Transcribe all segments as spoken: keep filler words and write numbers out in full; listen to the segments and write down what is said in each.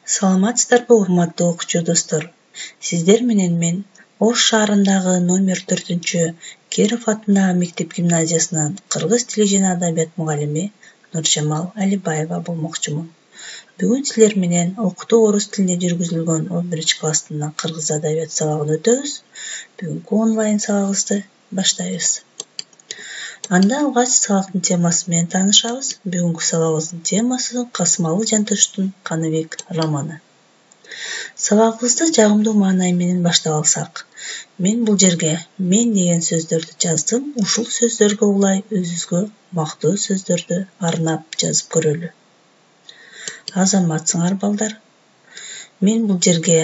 Саламатсыздарбы, урматтуу окуучу достор. Сиздер менен мен Ош шаарындагы номер төртүнчү Киров атындагы мектеп гимназиясынын кыргыз тили жана адабият мугалими Нуржамал Алибаева болмокчумун. Бүгүн силер менен окутуу орус тилинде жүргүзүлгөн он биринчи класстын кыргыз адабият сабагын өтөбүз. Бүгүнкү онлайн сабагыбызды баштайбыз. Анда алгач сабактын темасы менен таанышабыз. Бүгүнкү сабагыбыздын темасы Касымалы Жантошевдун Каныбек романы. Сабагыбызды жагымдуу маанай менен баштап алсак, мен бул жерге мен деген сөздөрдү жаздым. Ушул сөздөргө улай өзүбүзгө мактоо сөздөрдү арнап жазып көрөлү. Азаматсыңар балдар. Мен бул жерге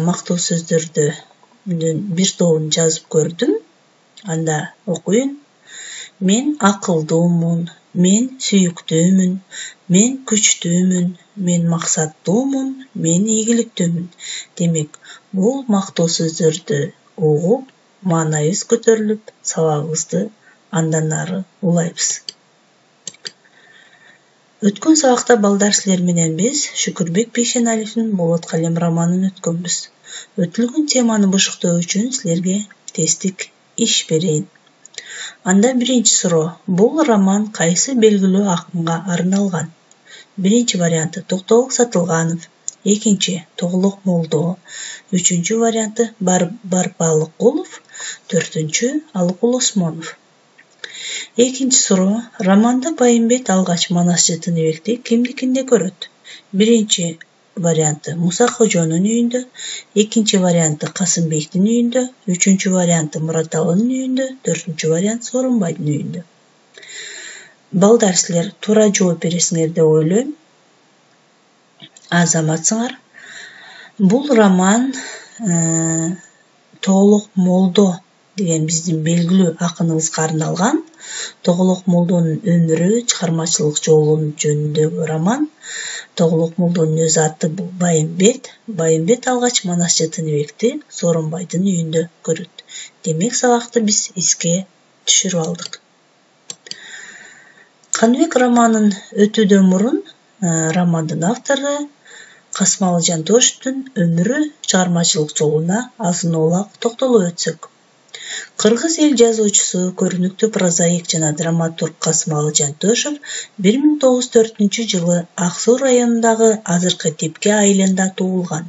мактоо сөздөрдүн бир тобун жазып көрдүм. Анда окуйын. Мен акылдуумун, мен сүйүктүүмүн, мен күчтүүмүн, мен максаттуумун, мен ийгиликтүүмүн. Демек, бул мактоо сөздөрдү угуп, маанайыбыз көтөрүлүп, сабагыбызды андан ары улайбыз. Өткөн сабакта балдар силер менен биз Шүкүрбек Бейшеналиевдин Болот калем романын өткөнбүз. Өтүлгөн теманы бушуктоо үчүн силерге тесттик иш берейин. Анда биринчи суроо. Бул роман кайсы белгилүү акынга арналган? Биринчи варианты Токтогул Сатылганов, экинчи Тоглок Молдо, үчүнчү варианты Барбалыкулов, төртүнчү Алыкул Осмонов. Экинчи суроо. Романда Байымбет алгач Манас Тыныбекти кимдикинде көрөт? Биринчи варианты Муса Кожонун үйүндө, экинчи варианты Касымбектин үйүндө, үчүнчү варианты Мураталынын үйүндө, төртүнчү вариант Сооронбайдын үйүндө. Балдар силер туура жооп бересиңер деп ойлойм. Азаматсыңар. Бул роман Тоглок Молдо деген биздин белгилүү акыныбызга арналган. Тоглок Молдонун өмүрү, чыгармачылык жолу жөнүндөгү роман. Тоглок Молдонун өз аты бул Байымбет. Байымбет алгач Манас Тыныбекти Сооронбайдын үйүндө көрөт. Демек, сабакты биз эске түшүрүп алдык. Каныбек романын өтүүдөн мурун романдын автору Касымалы Жантошевдун өмүрү, чыгармачылык жолуна азын-оолак токтолуп өтсөк. Кыргыз эл жазуучусу, көрүнүктүү прозаик жана драматург Касымалы Жантошев бир миң тогуз жүз төртүнчү жылы Ак Суу районундагы азыркы Тепке айылында туулган.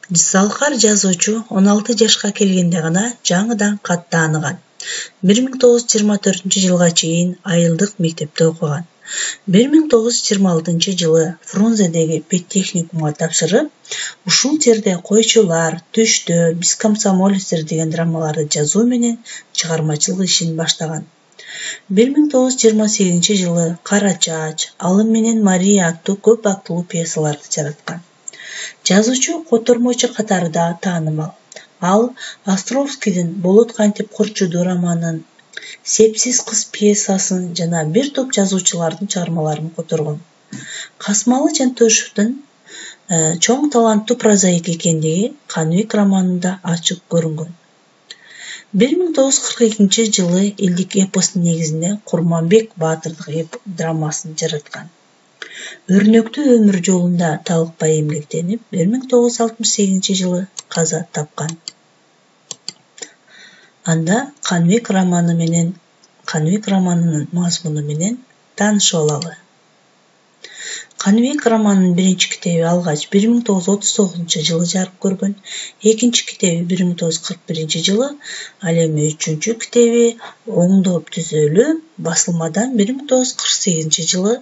Залкар жазуучу он алты жашка келгенде гана жаңыдан кат тааныган. бир миң тогуз жүз жыйырма төртүнчү жылга чейин айылдык мектепте окуган. бир миң тогуз жүз жыйырма алтынчы жылы Фрунзедеги педтехникумга тапшырып, ушул жерде Койчулар, Түштө, Биз комсомолецтер деген драмаларды жазуу менен чыгармачылык ишин баштаган. бир миң тогуз жүз жыйырма сегизинчи жылы Кара Чач, Алым менен Мария аттуу көп актылуу пьесаларды жараткан. Жазуучу котормочу катары да таанымал. Ал Островскийдин Болот кантип курчуду романын, Сепсиз кыз пьесасын жана бир топ жазуучулардын чыгармаларын которгон. Касымалы Жантошевдун чоң таланттуу прозаик экендиги Каныбек романында ачык көрүнгөн. бир миң тогуз жүз кырк экинчи жылы элдик эпостун негизинде Курманбек Баатырдык драмасын жараткан. Өрнөктүү өмүр жолунда талыкпай эмгектенип, бир миң тогуз жүз алтымыш сегизинчи жылы каза тапкан. Анда Каныбек романы менен, Каныбек романынын мазмуну менен таанышып алалы. Каныбек романынын биринчи китеби алгач бир миң тогуз жүз отуз тогузунчу жылы жарык көргөн, экинчи китеби бир миң тогуз жүз кырк биринчи жылы, ал эми үчүнчү китеби оңдоп түзөлүп, басылмадан бир миң тогуз жүз кырк сегизинчи жылы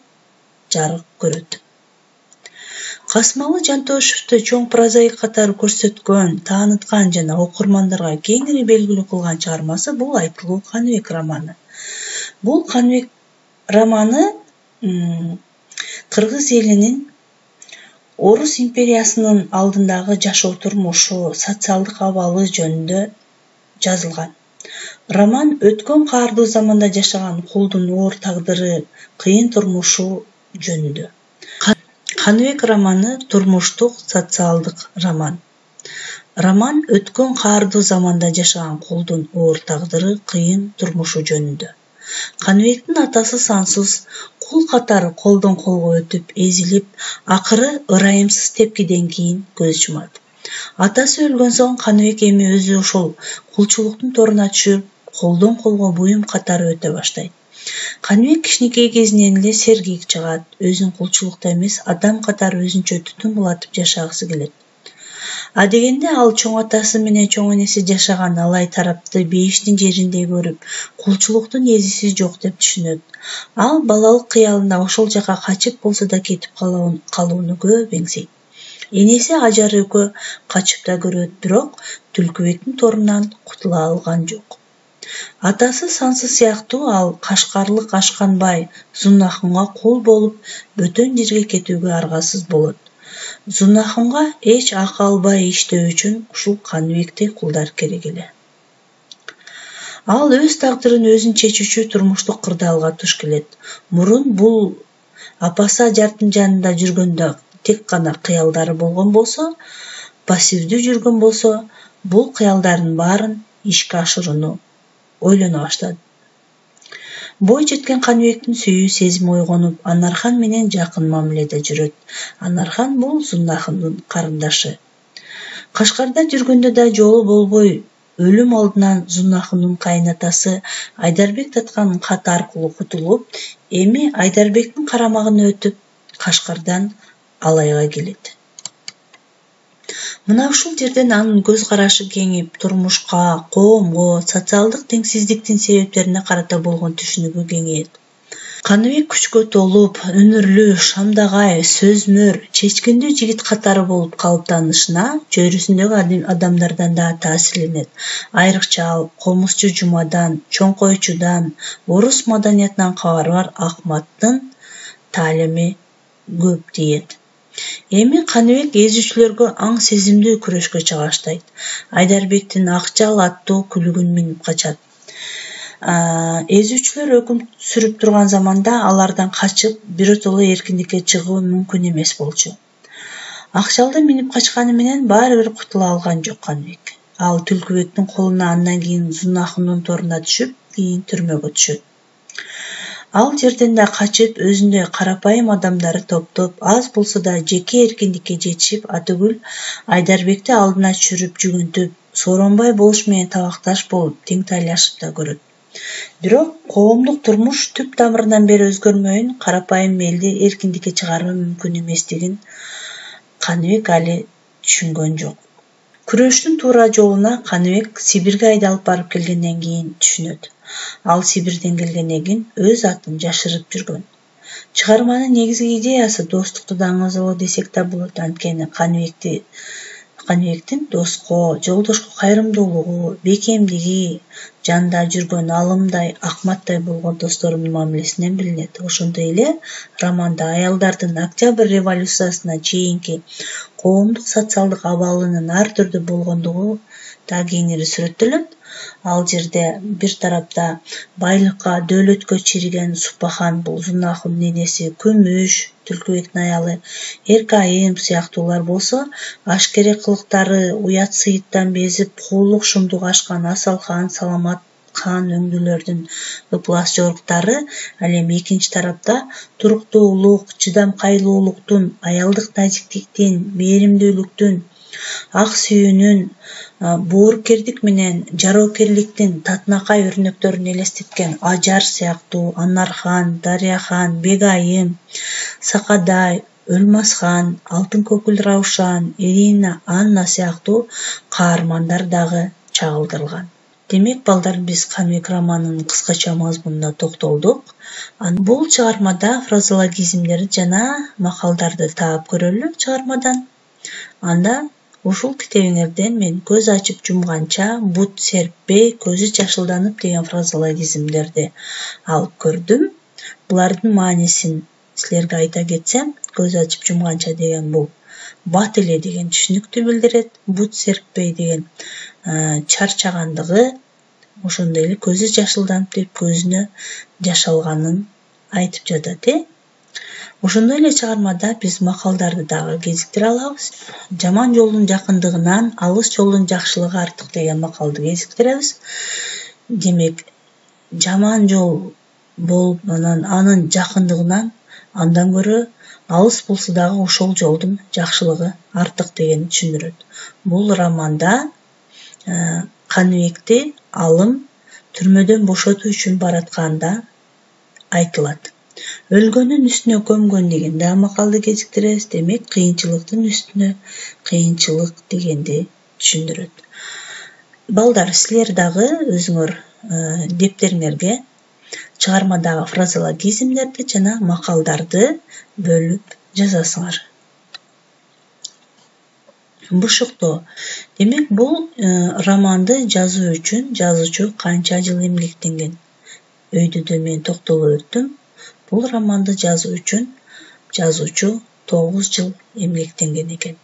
жарык көрөт. Касымалы Жантошевду чоң прозаик катары көрсөткөн, тааныткан жана окурмандарга кеңири белгилүү кылган чыгармасы бул айтылуу Каныбек романы. Бул Каныбек романы кыргыз элинин Орус империясынын алдындагы жашоо турмушу, социалдык абалы жөнүндө жазылган. Роман өткөн каардуу заманда жашаган кулдун оор тагдыры, кыйын турмушу жөнүндө. Каныбек романы турмуштук социалдык роман. Роман өткөн каардуу заманда жашаган кулдун оор тагдыры, кыйын турмушу жөнүндө. Каныбектин атасы сансыз кул катары колдон колго өтүп, эзилип, акыры ырайымсыз тепкиден кийин көз жумат. Атасы өлгөн соң Каныбек эми өзү ошол кулчулуктун торуна түшүп, колдон колго буюм катары өтө баштайт. Каныбек кичинекей кезинен эле сергек чыгат, өзүн кулчулукта эмес, адам катары өзүнчө түтүн булатып жашагысы келет. А дегенде ал чоң атасы менен чоң энеси жашаган алай тарапты бейиштин жериндей көрүп, кулчулуктун эзиси жок деп түшүнөт. Ал балалык кыялында ошол жака качып болсо да кетип калууну көп эңсейт. Энеси Ажар экөө качып да көрөт, бирок Түлкүбектин торунан кутула алган жок. Атасы Сансыз сыяктуу ал Кашкарлык Ашканбай Зуннахунга кул болуп, бөтөн жерге кетүүгө аргасыз болот. Зуннахунга эч акы албай иштөө үчүн ушул Каныбектей кулдар керек эле. Ал өз тагдырын өзүн чечүүчү турмуштук кырдаалга туш келет. Мурун бул апасы Ажардын жанында жүргөндө тек гана кыялдары болгон болсо, пассивдүү жүргөн болсо, бул кыялдардын баарын ишке ашырууну ойлоно баштады. Бой жеткен Каныбектин сүйүү сезими ойгонуп, Анархан менен жакын мамиледе жүрөт. Анархан бул Зуннахундун карындашы. Кашкарда жүргөндө да жолу болбой, өлүм алдынан Зуннахундун кайнатасы Айдарбек таткан кат аркылуу кутулуп, эми Айдарбектин карамагына өтүп, Кашкардан Алайга келет. Мына ушул жерден анын көз карашы кеңип, турмушка, коомго, социалдык теңсиздиктин себептерине карата болгон түшүнүгү кеңейет. Каныбек күчкө толуп, өнүрлүү, шамдагай, сөзмөр, чечкиндүү жигит катары болуп калыптанышына чөйрөсүндөгү адамдардан да таасирленет. Айрыкча ал комузчу Жумадан, чоңкойчудан, орус маданиятынан кабары бар Акматтын таалими көп тиет. Эми Каныбек эзүүчүлөргө аң сезимдүү күрөшкө чыга баштайт. Айдарбектин Акчал аттуу күлүгүн минип качат. Эзүүчүлөр өкүм сүрүп турган заманда алардан качып, биротоло эркиндикке чыгуу мүмкүн эмес болчу. Акчалды минип качканы менен баары бир кутула алган жок Каныбек. Ал Түлкүбектин колуна, андан кийин Зуннахундун торуна түшүп, кийин түрмөгө түшөт. Ал жерден да качып, өзүндөй карапайым адамдары топтоп, аз болсо да жеке эркиндикке жетишип, атүгүл Айдарбекти алдына түшүрүп, жүгүнтүп, сооронбай болуш менен табакташ болуп, тең тайлашып да көрөт. Бирок коомдук турмуш түп тамырынан бери өзгөрмөйүн, карапайым элди эркиндикке чыгаруу мүмкүн эместигин Каныбек али түшүнгөн жок. Күрөштүн туура жолуна Каныбек Сибирге айдалып барып келгенден кийин түшүнөт. Ал Сибирден келгенден кийин өз атын жашырып жүргөн. Чыгарманын негизги идеясы достукту даңазалоо десек да болот, анткени Каныбекти Каныбектин доско, жолдошко кайрымдуулугу, бекемдиги, жанында жүргөн алымдай, Акматтай болгон досторунун мамилесинен билинет. Ошондой эле романда аялдардын Октябрь революциясына чейинки коомдук социалдык абалынын ар түрдүү болгондугу да кеңири сүрөттөлөт. Ал жерде бир тарапта байлыкка, дөөлөткө чириген Супахан, бул Зуннахундун энеси, Күмүш, Түлкүбектин аялы, Эркайым сыяктуулар болсо, ашкере кылыктары, уят сыйыттан безип, куулук шумдук ашкан Асалхан, Саламат кан өңдүүлөрдүн ыплас жоруктары. Ал эми экинчи тарапта туруктуулук, чыдамкайлуулуктун, аялдык назиктиктин, мээримдүүлүктүн, ак сүйүүнүн, боорукердик менен жароокерликтин татынакай өрнөктөрүн элестеткен Ажар сыяктуу, Анархан, Дарыяхан, Бегайым, Сакадай, Өлмасхан, Алтын көкүл Раушан, Ирина, Анна сыяктуу каармандар дагы чагылдырылган. Демек, балдар, биз Каныбек романынын кыскача мазмунуна токтолдук. Бул чыгармада фразеологизмдерди жана макалдарды таап көрөлү чыгармадан. Анда ушул китебиңерден мен көз ачып жумганча, бут серппей, көзү жашылданып деген фразеологизмдерди алып көрдүм. Булардын маанисин силерге айта кетсем, көз ачып жумганча деген бул бат эле деген түшүнүктү билдирет, бут серппей деген чарчагандыгы, ошондой эле көзү жашылданып деп көзүнө жаш алганын айтып жатат, э? Ошондой эле чыгармада биз макалдарды дагы кезиктире алабыз. Жаман жолдун жакындыгынан алыс жолдун жакшылыгы артык деген макалды кезиктиребиз. Демек, жаман жол болуп анан анын жакындыгынан андан көрө алыс болсо дагы ошол жолдун жакшылыгы артык дегенди түшүндүрөт. Бул романда Каныбекти алым түрмөдөн бошотуу үчүн баратканда айтылат. Өлгөндүн үстүнө көмгөн дегенди да макалды кезиктиребиз. Демек, кыйынчылыктын үстүнө кыйынчылык дегенди түшүндүрөт. Балдар, силер дагы өзүңөр дептериңерге чыгармадагы фразеологизмдерди жана макалдарды бөлүп жазасыңар. Бушуктоо. Демек, бул романды жазуу үчүн жазуучу канча жыл эмгектенген? Өйдөдө мен токтолуп өттүм. Бул романды жазуу үчүн жазуучу тогуз жыл эмгектенген экен.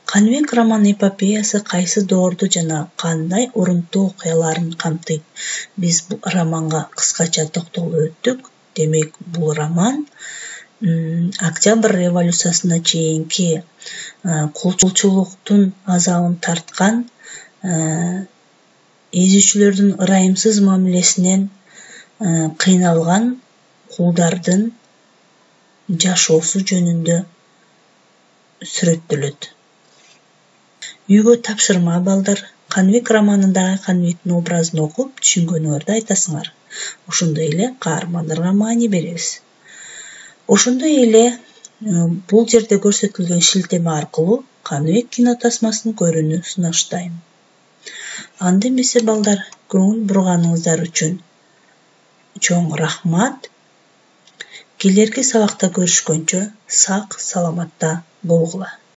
Каныбек роман эпопеясы кайсы доорду жана кандай урунттуу окуяларын камтыйт? Биз бул романга кыскача токтолуп өттүк. Демек, бул роман Октябрь революциясына чейинки кулчулуктун азабын тарткан, эзүүчүлөрдүн ырайымсыз мамилесинен кыйналган кулдардын жашоосу жөнүндө сүрөттөлөт. Үйгө тапшырма, балдар. Каныбек романындагы Каныбектин образын окуп, түшүнгөнүңөрдү айтасыңар. Ошондой эле каармандарга маани беребиз. Ошондой эле бул жерде көрсөтүлгөн шилтеме аркылуу Каныбек кинотасмасын көрүүнү сунуштайм. Анда эмесе, балдар, көңүл бурганыңыздар үчүн чоң рахмат. Келерки сабакта көрүшкөнчө сак саламатта болгула.